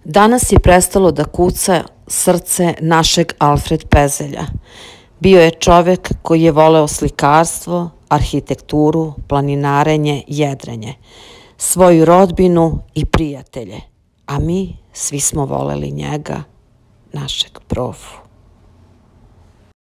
Danas je prestalo da kuca srce našeg Alfred Pezelja. Bio je čovek koji je voleo slikarstvo, arhitekturu, planinarenje, jedrenje, svoju rodbinu i prijatelje, a mi svi smo voleli njega, našeg profu.